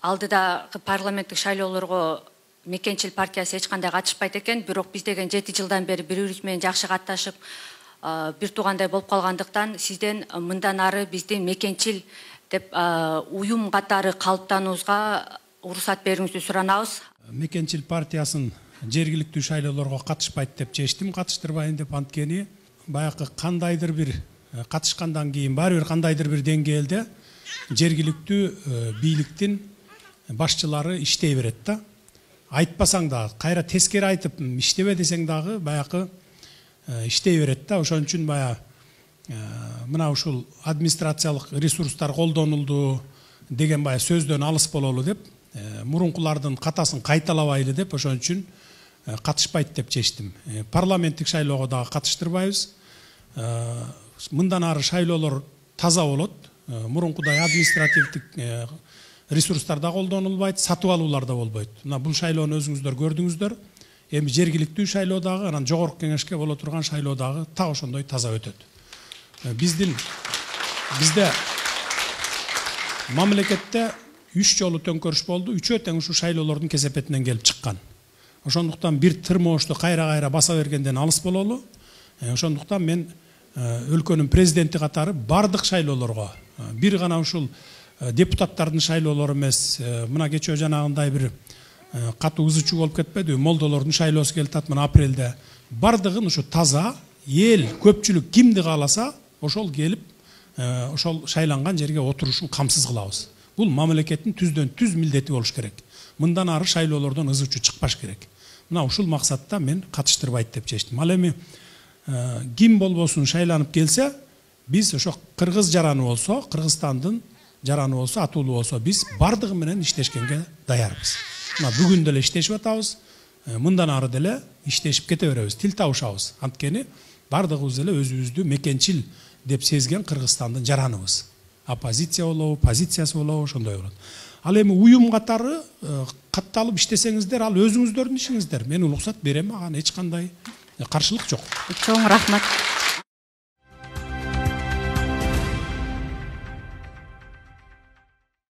алдыдагы парламенттик шайлоолорго Мекенчил партиясы эч кандай катышпайт экен, бирок биз деген 7 жылдан бери бири-бирибиз менен жакшы катташып, бир туугандай болуп калгандыктан сизден мындан ары биздин Мекенчил деп уюм катары калыптануубузга уруксат берүүңүздү суранабыз. Мекенчил партиясын жергиликтүү шайлоолорго катышпайт деп чечтим, катыштырбайын деп, анткени баягы кандайдыр бир катышкандан кийин баары бир кандайдыр бир деңгээлде жергиликтүү бийликтин башчылары иштей берет да. Айтпасаң дагы, кайра тескери айтып иштебе десең дагы баягы иштей берет да. Ошон үчүн мына ушул администрациялык ресурстар колдонулду деген сөздөн алыс бололу деп, мурункулардын катасын кайталабайлы деп, ошон үчүн катышпайт деп чечтим. Парламенттик шайлоого дагы катыштырбайбыз. Мындан ары шайлоолор таза болот. Мурункудай административдик ресурстар да колдонулбайт, сатып алуулар да болбойт. Мына бул шайлоону өзүңүздөр көрдүңүздөр. Эми жергиликтүү шайлоо дагы, анан жогорку кеңешке боло турган шайлоо дагы так ошондой таза өтөт. Бизде мамлекетте 3 жолу төңкөрүш болду, 3-өө тең ушу шайлоолордун кесепетинен келип чыккан. Ошондуктан бир тырмоочту кайра баса бергенден алыс бололу. Ошондуктан мен өлкөнүн президенти катары бардык шайлоолорго, бир гана ушул депутаттардын шайлоолору эмес, мына кечөө жанагындай бир катуу ызычуу болуп кетпеди, молдолордун шайлоосу келип атат мына апрелде. Бардыгын ушу таза, эл, көпчүлүк кимди кааласа, ошол келип, ошол шайланган жерге отурушун камсыз кылабыз. Бул мамлекеттин түздөн түз милдети болуш керек. Мындан ары шайлоолордон ызычуу чыкпаш керек. Мына ушул максатта мен катыштырбайт деп чечтим. Ал эми ким болбосун шайланып келсе, биз ошо кыргыз жараны болсо, Кыргызстандын жараны болсо, атуулуу болсо, биз бардыгы менен иштешкенге даярбыз. Мына бүгүн деле иштешип атабыз. Мындан ары деле иштешип кете беребиз, тил табышабыз. Анткени бардыгыбыз эле өзүбүздү Мекенчил деп сезген Кыргызстандын жараныбыз. Оппозиция болобу, позициясы болобу, ошондой болот. Ал эми уюм катары катталып иштесеңиздер, ал өзүңүздөрдүн ишиңиздер. Мен уруксат берем, ага эч кандай каршылык жок. Чоң рахмат.